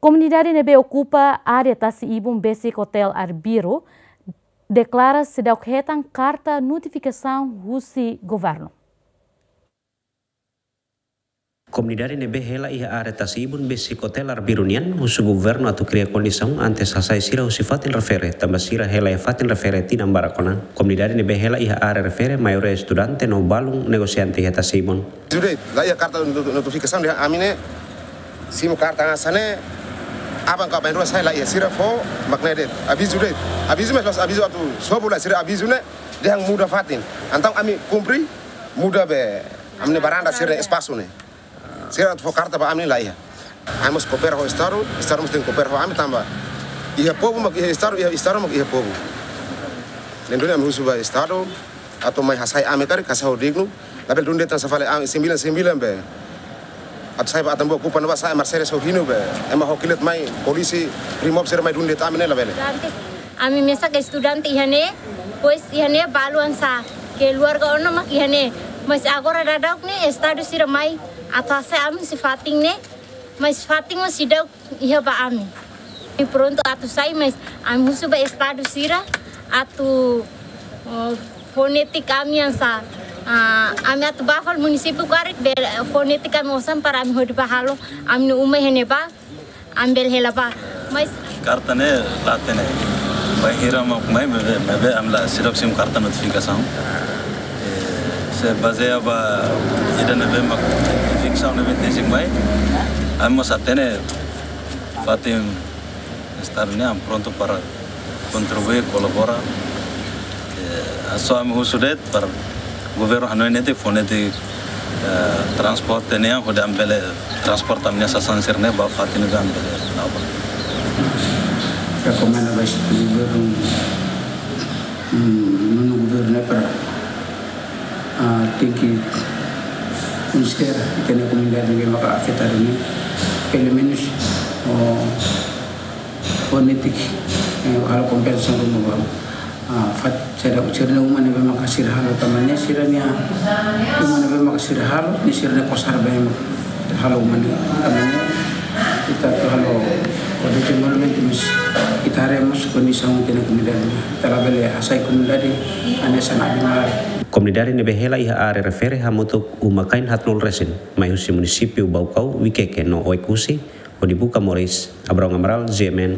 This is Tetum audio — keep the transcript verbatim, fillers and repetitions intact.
Komunidade ne'ebé okupa área tasi-ibun besik Hotel Arbiru deklara seidauk hetan karta notifikasaun husi governu. Komunidade ne'ebé hela iha área tasi-ibun besik Hotel Arbiru nian husu governu atu kria kondisaun antes hasai sira husi fatin refere, tanba sira hela iha fatin refere tinan barak ona. Komunidade ne'ebé hela iha área refere maioria estudante no balun negosiante iha tasi-ibun. Judei, la iha karta notu-, notifikasaun dehan ami ne'e simu karta hanesan ne'e, aban ka bainrua sai la iha, sira fó mak ne'e de'it. Avizu de'it. Avizu, mas pas avizu atu sobu la, sira avizu ne'e dehan muda fatin. Entaun ami kumpre, muda be ami-nia baranda, sira-nia espasu ne'e. Sira atu fó karta ba ami la iha. Ami mós koopera ho Estadu, Estadu mós tenke koopera ho ami tanba iha povu mak iha Estadu, iha Estadu mak iha povu. Ne'e duni ami husu ba Estadu atu mai hasai ami karik, hasai ho dignu. Labele dun de'it hanesan fali ami sembilan sembilan be atu sai ba atan ba okupa ne'ebá, sai Mercedes ho hinu be ema ho kilat mai, polisi, Brimob sira mai dun de'it ami ne'e, labele. Antes, ami mesak estudante iha ne'e, pois iha ne'e balu hanesan keluarga ona mak iha ne'e. Mas agora daudauk ne'e Estadu sira mai atu hasai ami husi fatin ne'e, mas fatin mós seidauk iha ba ami. Ami prontu atu sai, mas ami husu ba Estadu sira atu, oh, fó netik ami hanesan, ah, ami atu bá fali munisípiu karik be fó netik ami osan para ami hodi bá halo ami-nia uma iha ne'ebá, ami bele hela bá. Mas karta ne'e la hatene bainhira mak mai, maibé, maibé ami la, seidauk simu karta notifikasaun. Eh, se bazeia ba ida ne'ebé mak notifikasaun ne'ebé tesik mai, ami mós hatene fatin Estadu nian prontu para kontribui, kolabora. Eh, só ami husu de'it para governu hanoin netik, fó netik, eh, transporte nian, hodi ami bele transporta ami-nia sasán sira-ne'e ba fatin ne'ebé ami bele la'o ba. Rekomenda ba governu, mm, nonu governu ne'e para, ah, tenke konsidera ita-nia komunidade ne'ebé maka afetadu ne'e, pelumenus, oh, fó netik, eh, halo kompensasaun ruma ba, ah, fat-, sira, sira-nia uma ne'ebé maka sira halo tanba ne'e sira-nia uma ne'ebé maka sira halo, ne'e sira-nia kosar be maka sira halo uma ne'e tanba ne'e. Ita atu halo, hodi dezenvolvimentu, mas ita haree mós kondisaun ita-nia komunidade. Ita labele hasai komunidade hanesan animál. Komunidade ne'ebé hela iha área refere hamutuk uma-kain haatnulu resin, mai husi munisípiu Baucau, Viqueque no Oekusi, hodi buka moris. Abraão Amaral, G M N,